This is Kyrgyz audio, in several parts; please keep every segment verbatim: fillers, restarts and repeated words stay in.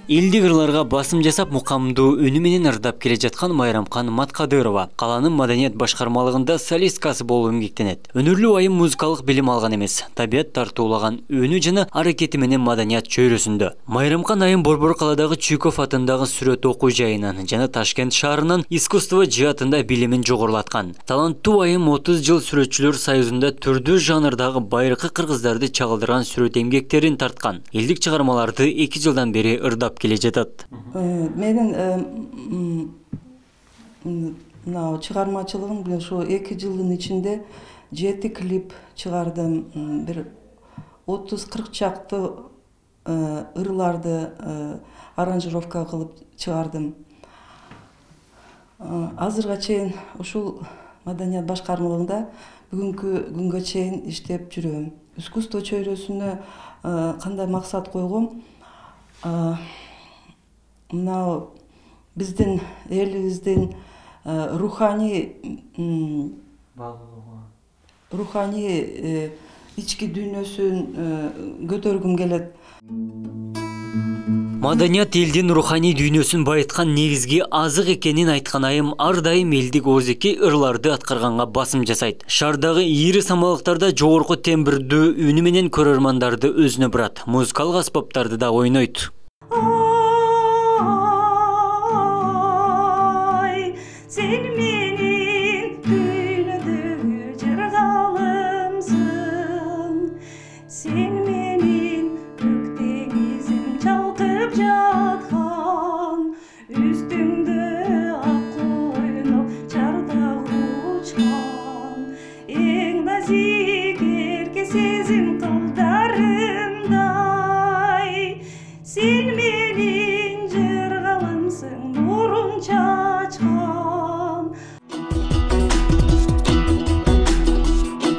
Элдик ырларга басым жасап мукамдуу үнү менен ырдап келе жаткан Майрамкан Маткадырова калаанын маданият башкармалыгында солисткасы болуп эмгектенет. Өнөрлүү айым музыкалык билим алган эмес, табият тартуулаган үнү жана аракети менен маданият чөйрөсүндө. Майрамкан айым Борбор каладагы Чүйкөв атындагы сүрөт окуу жайынан жана Ташкент шаарынын искусство жаатында билимин жогорулаткан. Таланттуу айым отуз жыл Сүрөтчүлөр союзунда түрдүү жанрдагы байыркы кыргыздарды чагылдырган сүрөт эмгектерин тарткан. Элдик чыгармаларды эки жылдан бери ырдап келе жатат. Менин мына чыгармачылыгым ошо эки жылдын ичинде жети клип чыгардым, бир отуз кырк чакты ырларды аранжировка кылып чыгардым. Азырга чейин ушул маданият башкармалыгында бүгүнкү күнгө чейин иштеп жүрөм. Искусство чөйрөсүнө кандай максат койгом? Мына биздин элибиздин руханий руханий ички дүйнөсүн көтөргүм келет. Маданият элдин руханий дүйнөсүн байыткан негизги азык экенин айткан айым ар дайым элдик оозеки ырларды аткарганга басым жасайт. Шаардагы ийри самалыктарда жогорку тембирдүү үнү менен көрөрмандарды өзүнө бурат. Музыкалык аспаптарды да ойнойт.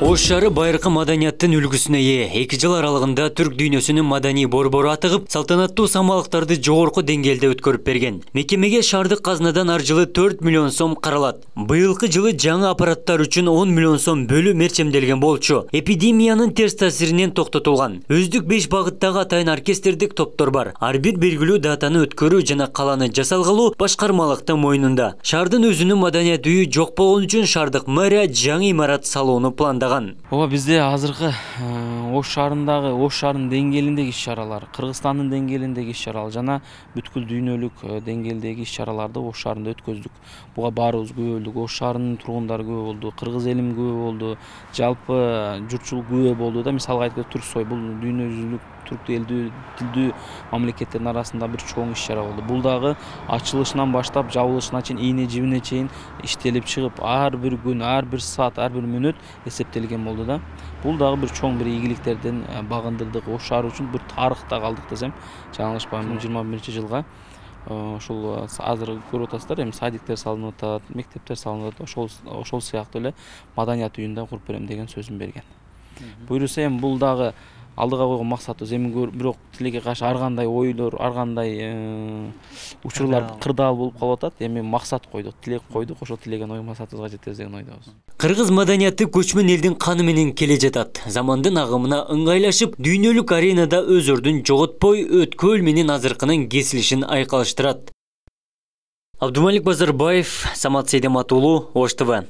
Ош шаары байыркы маданияттын үлгүсүнө ээ. эки жыл аралыгында түрк дүйнөсүнүн маданий борбору атыгып, салтанаттуу самалыктарды жогорку деңгээлде өткөрүп берген. Мекемеге шаардык казнадан ар жылы төрт миллион сом каралат. Быйылкы жылы жаңы аппараттар үчүн он миллион сом бөлүү мерчемделген болчу. Эпидемиянын терс таасиринен токтотулган. Өздүк беш багыттагы атайын оркестрдик топтор бар. Ар бир белгилүү датаны өткөрүү жана каланы жасалгалуу башкармалыктын мойнунда. Шаардын өзүнүн маданият үйү жок болгон үчүн шаардык мэрия жаңы имарат салууну пландаган. Ооба бизде азыркы Ош шаарындагы Ош шаарынын деңгээлиндеги иш-чаралар, Кыргызстандын деңгээлиндеги иш-чаралар жана бүткүл дүйнөлүк деңгээлдеги иш-чараларды Ош шаарында өткөздүк. Буга баарыбыз күбө болдук. Ош шаарынын тургундары күбө болду, кыргыз элим күбө болду, жалпы журтчулук күбө болду да. Мисалга айтканда Түрксой бул дүйнө жүзүлүк түрк элдүү тилдүү мамлекеттердин арасында бир чоң иш-чара болду. Бул дагы ачылышынан баштап жабылышына чейин, ийне жибине чейин иштелип чыгып, ар бир күн, ар бир саат, ар бир мүнөт эсептелген болду да. Бул дагы бир чоң бир ийгиликтерден багындырдык. Ош шаары үчүн бир тарыхта калдык десем, жаңылышпайм. жыйырма биринчи жылга ошол азыр көрүп атасыздар, эми садиктер салынып атат, мектептер салынып атат. Ошол ошол сыяктуу эле маданият үйүн да куруп берем деген сөзүн берген. Буюрса эми бул дагы алдыга койгон максатыбыз. Эми бирок тилекке каршы ар кандай ойлор, ар кандай учурлар кырдаал болуп калып атат. Эми максат койдук, тилек койдук, ошол тилеген ой максатыбызга жетебиз деген ойдобуз. Кыргыз маданияты көчмөн элдин каны менен келе жатат. Замандын агымына ыңгайлашып, дүйнөлүк аренада өз ордун жоготпой, өткөл менен азыркынын кесилишин айкалыштырат. Абдумалик Базарбаев, Самат Сейдемат уулу, Ош ТВ.